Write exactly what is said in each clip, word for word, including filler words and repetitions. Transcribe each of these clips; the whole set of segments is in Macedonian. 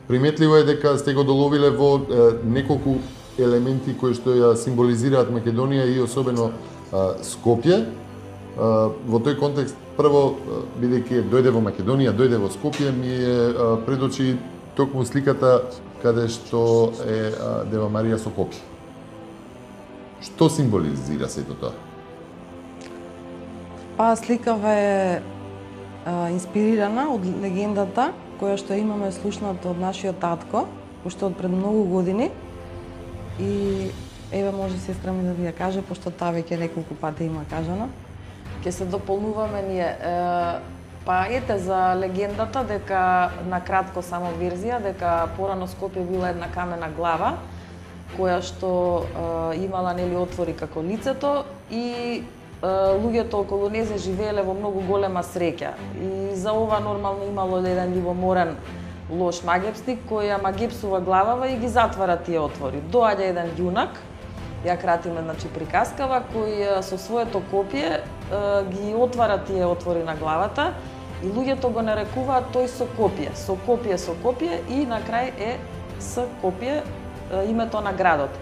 Приметливо е дека сте го доловиле во неколку елементи кои што ја символизираат Македонија и особено Скопје. Во тој контекст, прво, бидејќи дојде во Македонија, дојде во Скопје, ми е пред очи токму сликата каде што е Дева Марија со копје. Што символизира сето тоа? Па сликава е а, инспирирана од легендата која што имаме слушната од нашиот татко, уште од пред многу години. И еве може сестра ми да ви ја каже, пошто таа веќе неколку пати има кажано. Ќе се дополнуваме ние. Па ете за легендата дека на кратко само верзија дека порано Скопје била една камена глава која што е, имала нели отвори како лицето и луѓето околу незе живееле во многу голема среќа. И за ова нормално имало еден љубоморен лош магепсник кој ја магепсува главава и ги затвара тие отвори. Доаѓа еден јунак, ја кратиме, значи приказкава, кој со своето копје ги отвара тие отвори на главата и луѓето го нарекуваат тој со копје, со копје, со копје и на крај е с копје името на градот.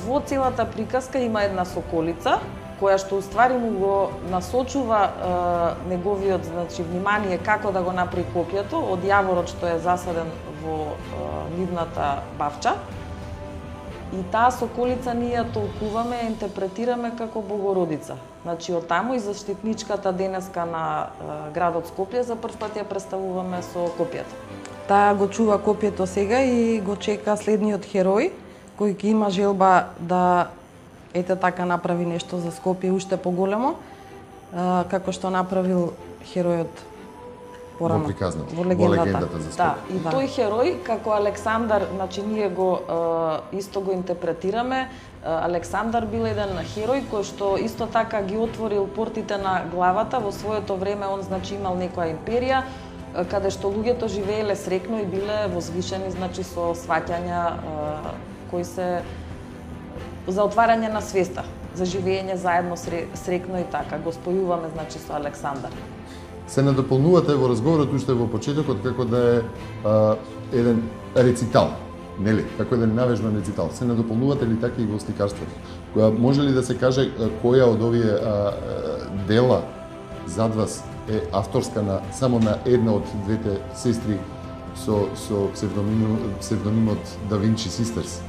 Во целата приказка има една соколица која што уствари му го насочува е, неговиот, значи, внимание како да го направи копјето од јаворот што е засаден во е, нивната бавча. И таа соколица ние ја толкуваме, ја интерпретираме како Богородица. Значи, од таму и заштитничката денеска на е, градот Скопје за прв пат ја представуваме со копјето. Таа го чува копјето сега и го чека следниот херој кој ќе има желба да ете така направи нешто за Скопје уште поголемо, како што направил херојот порано во приказната, во легендата, во легендата за Скопје. Да, и да. Тој херој како Александар, значи ние го исто го интерпретираме. Александар бил еден херој кој што исто така ги отворил портите на главата. Во своето време он значи имал некоја империја каде што луѓето живееле срекно и биле возвишени, значи со сваќања кои се за отварање на свеста, за живење заедно срекно и така. Го спојуваме, значи, со Александар. Се надополнувате во разговорот уште во почетокот како да е а, еден рецитал, нели? Како еден навежбан рецитал. Се надополнувате ли така и во сликарството? Која може ли да се каже која од овие а, а, дела зад вас е авторска на само на една од двете сестри со со псевдонимот, псевдонимот Да Винчи Систерс?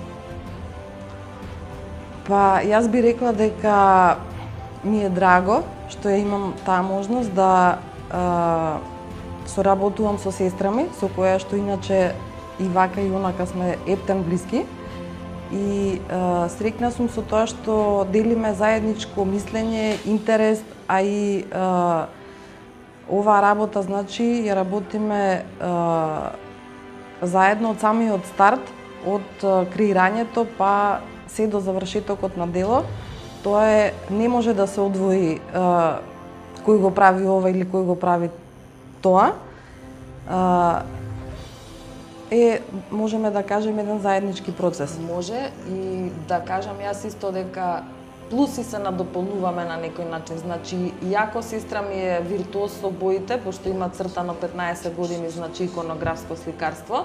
Па, јас би рекла дека ми е драго што ја имам таа можност да а, соработувам со сестра ми, со која што иначе и вака и онака сме ептен блиски. И а, срекна сум со тоа што делиме заедничко мислење, интерес, а и а, оваа работа, значи, ја работиме а, заедно од самиот старт, од а, креирањето па се до завршетокот на дело. Тоа е, не може да се одвои а, кој го прави ова или кој го прави тоа. А, е, можеме да кажеме, еден заеднички процес. Може и да кажам јас исто дека плюси се надополнуваме на некој начин. Значи, иако сестра ми е виртуоз со боите, пошто има цртано петнаесет години, значи иконографско сликарство,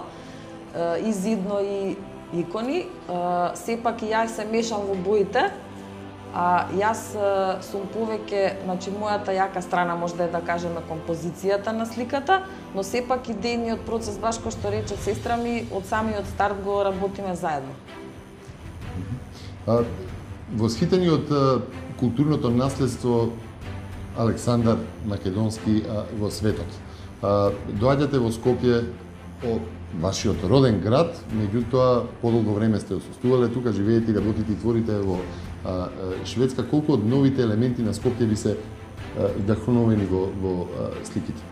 и зидно и икони, сепак и јас се мешам во боите, а јас сум повеќе, значи мојата јака страна може да е, да кажеме, композицијата на сликата, но сепак идејниот процес, баш кој што рече сестра ми, од самиот старт го работиме заедно. А, восхитени од културното наследство Александар Македонски а, во светот. А, доаѓате во Скопје, од вашиот роден град, меѓутоа подолго време сте отсуствувале тука, живеете и работите и творите во а, а, Шведска. Колку од новите елементи на Скопје ви се вдахновени во, во а, сликите?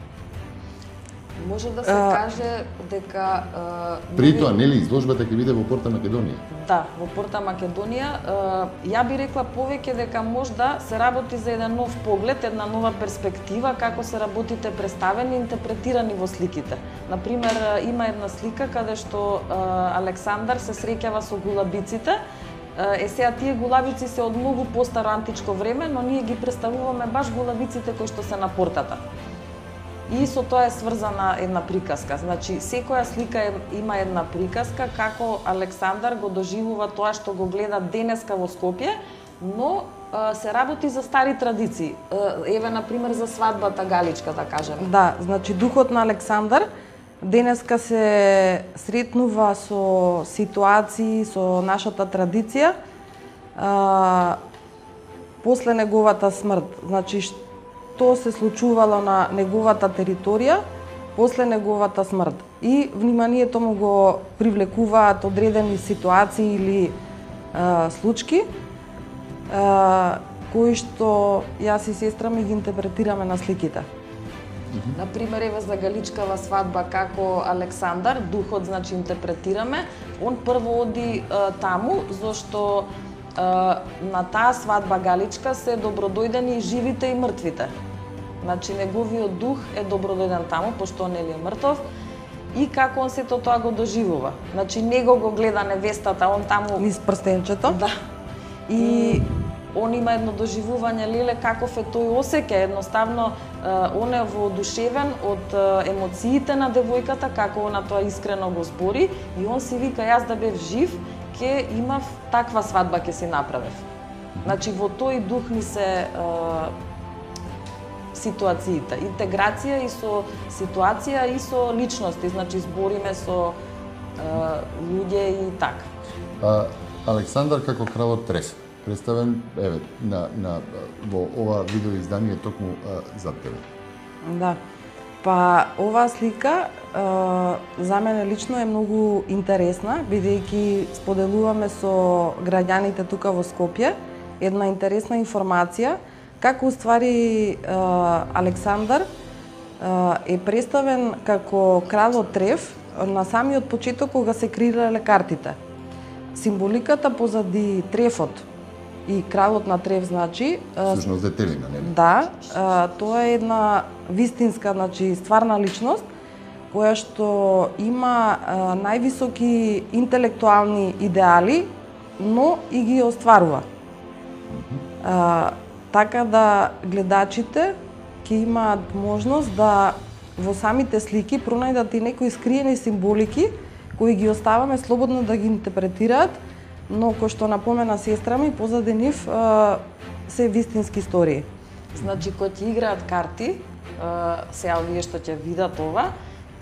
Може да се а, каже дека... А, При тоа, нели, изложбата ќе биде во Порта Македонија? Да, во Порта Македонија. А, ја би рекла повеќе дека можда се работи за еден нов поглед, една нова перспектива, како се работите представени и интерпретирани во сликите. Например, има една слика каде што а, Александар се среќава со гулабиците. Е, сега тие гулабици се од многу постаро античко време, но ние ги представуваме баш гулабиците кои што се на портата. и со тоа е сврзана една приказка. Значи, секоја слика има една приказка како Александар го доживува тоа што го гледа денеска во Скопје, но се работи за стари традиции. Еве, например, за свадбата галичка, да кажеме. Да, значи духот на Александар денеска се сретнува со ситуации, со нашата традиција, а, после неговата смрт. Значи, што се случувало на неговата територија после неговата смрт. И вниманието му го привлекуваат одредени ситуации или а, случки, а, кои што јас и сестра ми ги интерпретираме на сликите. Например, еве за галичкава свадба како Александар, духот, значи, интерпретираме, он прво оди а, таму, зашто а, на таа свадба галичка се добродојдени и живите и мртвите. Значи, неговиот дух е добродојден таму, пошто он е мртов, и како он сето тоа го доживува. Значи, него го гледа невестата, он таму... Низ прстенчето. Да. И он има едно доживување, леле, каков е тој осеќај, едноставно он е воодушевен од емоциите на девојката, како она тоа искрено го збори, и он си вика, јас да бев жив, ќе имав таква свадба, ќе си направев. Значи, во тој дух ни се ситуациите, интеграција и со ситуација и со личности, значи збориме со луѓе и така. Александар како кралот Треф, представен еве на на во ова видео издание токму а, за тебе. Да. Па оваа слика а, за мене лично е многу интересна, бидејќи споделуваме со граѓаните тука во Скопје една интересна информација како уствари а, Александар а, е представен како кралот Треф на самиот почеток кога се креирале картите. Символиката позади Трефот и кралот на Треф, значи... Всушност детелина, нели? Да, а, тоа е една вистинска, значи стварна личност, која што има а, највисоки интелектуални идеали, но и ги остварува. А, така да гледачите ќе имаат можност да во самите слики пронајдат и некои скриени символики кои ги оставаме слободно да ги интерпретираат, но кој што напомена сестра ми, позади нив се вистински истории. Значи, кој ќе играат карти, сега овие што ќе видат ова,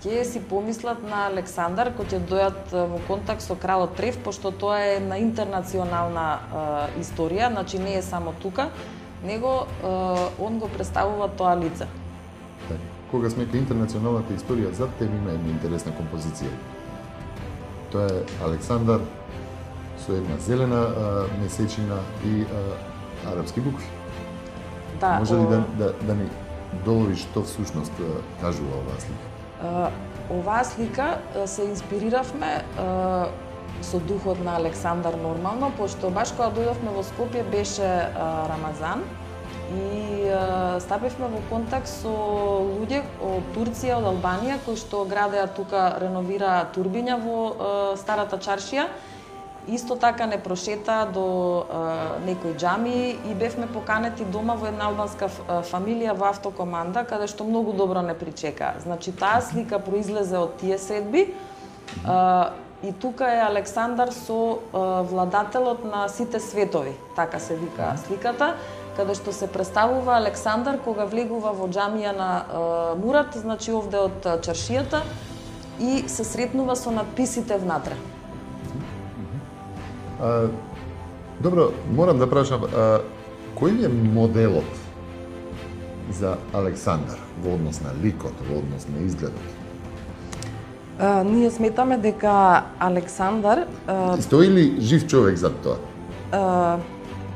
ќе си помислат на Александар, кој ќе дојат во контакт со кралот Треф, пошто тоа е една интернационална историја, значи не е само тука, него он го представува тоа лице. Кога сме кај интернационалната историја, зад тебе има една интересна композиција. Тоа е Александар со една зелена а, месечина и а, арапски букви. Да, може ли о... да, да, да ни долови што всушност кажува оваа слика? А, оваа слика се инспириравме а, со духот на Александар нормално, пошто баш кога дојдовме во Скопје беше а, Рамазан и а, стапивме во контакт со луѓе од Турција, од Албанија, кои што градеа тука, реновира турбиња во а, старата чаршија. Исто така не прошета до а, некои џамии и бевме поканети дома во една албанска фамилија во автокоманда, каде што многу добро не причека. Значи, таа слика произлезе од тие средби а, и тука е Александар со а, владателот на сите светови, така се вика сликата, каде што се представува Александар кога влегува во џамија на а, Мурат, значи овде од чаршијата, и се сретнува со надписите внатре. А, добро, морам да прашам, а, кој е моделот за Александар во однос на ликот, во однос на изгледот? А, ние сметаме дека Александар... А, Стои ли жив човек зад тоа? А,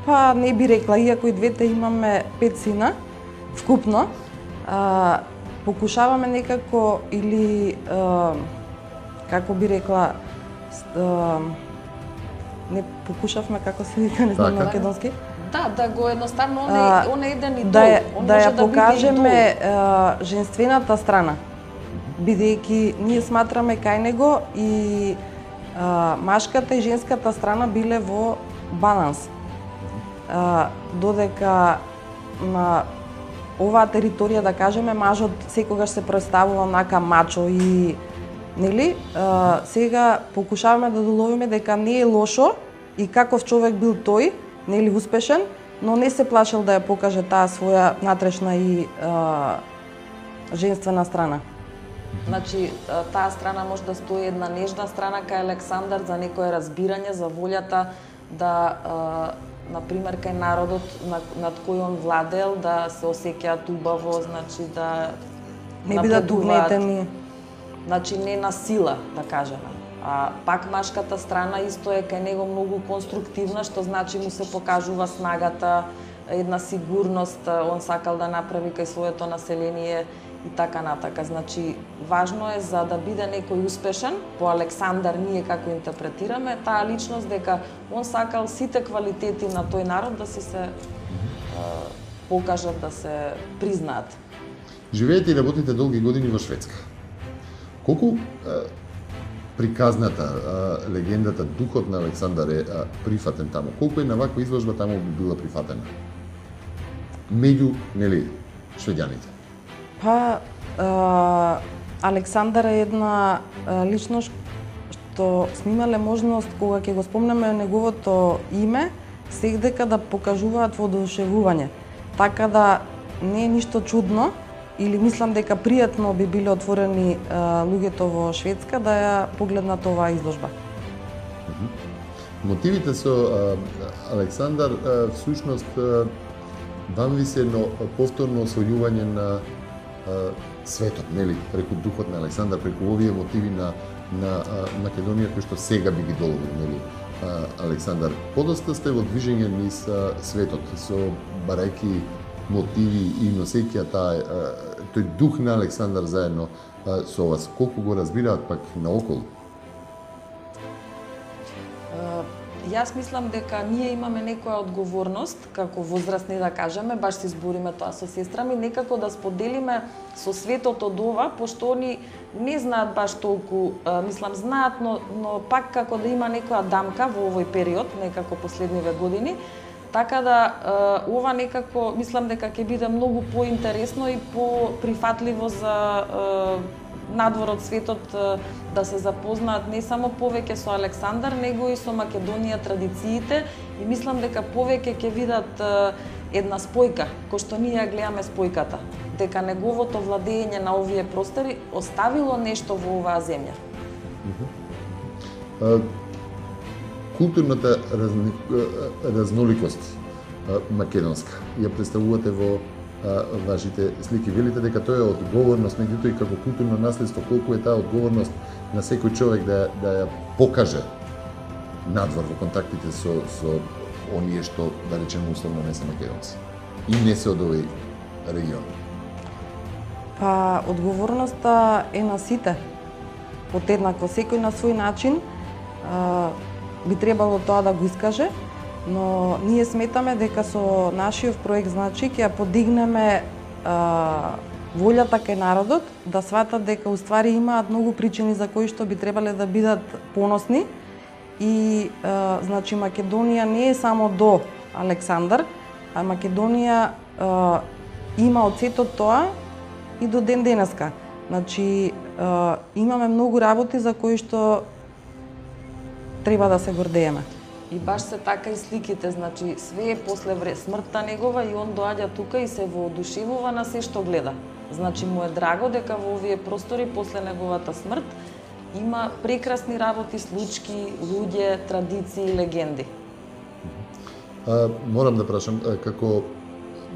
па не би рекла, иако и двете имаме пет сина, вкупно, а, покушаваме некако или, а, како би рекла, а, не покушавме, како се вика, не знам на македонски. Да, да го едноставно, он е, он е еден идол. Да, ја, он да може ја да покажеме а, женствената страна, бидејќи ние сматраме кај него и а, машката и женската страна биле во баланс. А, додека на оваа територија, да кажеме, мажот секогаш се представува онака мачо и нели, а, сега покушаваме да доловиме дека не е лошо и каков човек бил тој, нели успешен, но не се плашил да ја покаже таа своја натрешна и а, женствена страна. Значи, таа страна може да стои една нежна страна кај Александар за некое разбирање, за волјата да, на пример, кај народот над кој он владел, да се осеќаат убаво, значи да не бидат угнетени. Значи не на сила, да кажеме. А пак машката страна исто е кај него многу конструктивна, што значи му се покажува снагата, една сигурност, он сакал да направи кај своето население и така натака. Значи, важно е за да биде некој успешен, по Александар ние како интерпретираме, таа личност дека он сакал сите квалитети на тој народ да си се е, покажат, да се признаат. Живеете и работите долги години во Шведска. Колку е, приказната, е, легендата, духот на Александар е, е прифатен таму? Колку е на ваква изложба таму би била прифатена? Меѓу, нели, шведјаните? Па, а, Александар е една а, личност што снимале можност кога ќе го спомнеме неговото име, секдека да покажуваат воодушевување. Така да не е ништо чудно, или мислам дека пријатно би биле отворени а, луѓето во Шведска да ја погледнат оваа изложба. Мотивите со а, Александар а, всушност а, вам ви се едно повторно освојување на а, светот, нели, преку духот на Александар, преку овие мотиви на на а, Македонија кои што сега би ги долови, нели, а, Александар. Подоста сте во движење низ а, светот со барајки мотиви и носејќи таа тој дух на Александар заедно а, со вас. Колку го разбираат пак наоколу? Јас мислам дека ние имаме некоја одговорност, како возрастни да кажеме, баш се избориме тоа со сестра ми, некако да споделиме со светот од ова, пошто они не знаат баш толку, мислам знаат, но, но пак како да има некоја дамка во овој период, некако последниве години, така да ова некако, мислам дека ќе биде многу поинтересно и поприфатливо за надвор од светот да се запознаат не само повеќе со Александар, него и со Македонија, традициите, и мислам дека повеќе ќе видат една спојка, кој што ние ја гледаме спојката, дека неговото владење на овие простори оставило нешто во оваа земја. Културната разни... разноликост македонска ја представувате во вашите слики. Велите дека тоа е одговорност, меѓутоа и како културно наследство, колку е таа одговорност на секој човек да, да ја покаже надвор во контактите со, со оние што, да речеме, условно не се македонци и не се од овој регион? Па, одговорноста е на сите. Подеднакво, секој на свој начин а, би требало тоа да го искаже, но ние сметаме дека со нашиот проект, значи, ќе ја подигнеме а, волјата кај народот да сватат дека уствари имаат многу причини за кои што би требале да бидат поносни и а, значи Македонија не е само до Александар, а Македонија а, има од сето тоа и до ден денеска. Значи а, имаме многу работи за кои што треба да се гордееме. И баш се така и сликите, значи све е после вре смртта негова и он доаѓа тука и се воодушевува на се што гледа. Значи му е драго дека во овие простори после неговата смрт има прекрасни работи, случки, луѓе, традиции, легенди. А, морам да прашам, како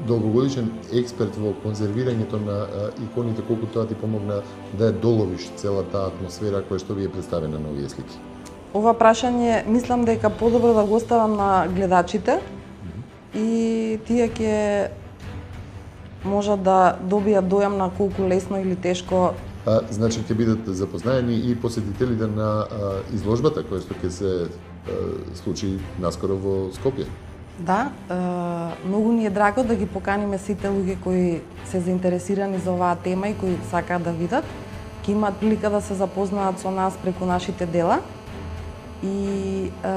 долгогодишен експерт во конзервирањето на а, иконите, колку тоа ти помогна да ја доловиш целата атмосфера која што ви е представена на овие слики? Ова прашање мислам дека подобро да го оставам на гледачите и тие ќе можат да добијат дојам на колку лесно или тешко. А, значи ќе бидат запознаени и посетителите на а, изложбата која што ќе се а, случи наскоро во Скопје. Да, е, многу ни е драго да ги поканиме сите луѓе кои се заинтересирани за оваа тема и кои сакаат да видат. Ќе имаат прилика да се запознаат со нас преку нашите дела. И е,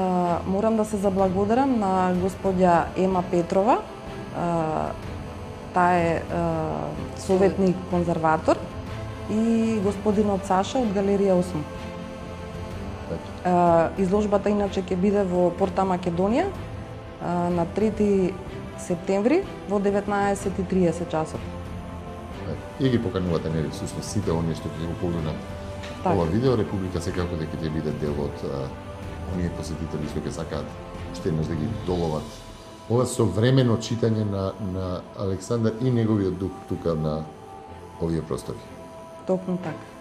морам да се заблагодарам на господја Ема Петрова, е, таа е советник конзерватор, и господинот Саша од галерија осум. Изложбата иначе ќе биде во Порта Македонија на трети септември во деветнаесет и триесет часот. И ги поканувате, нели, всушност сите оние што ќе го погледнат ова видео. Република секако дека ќе биде дел од оние посетители што ќе сакаат уште еднаш да ги доловат ова современо читање на, на Александар и неговиот дух тука на овие простори. Токму така.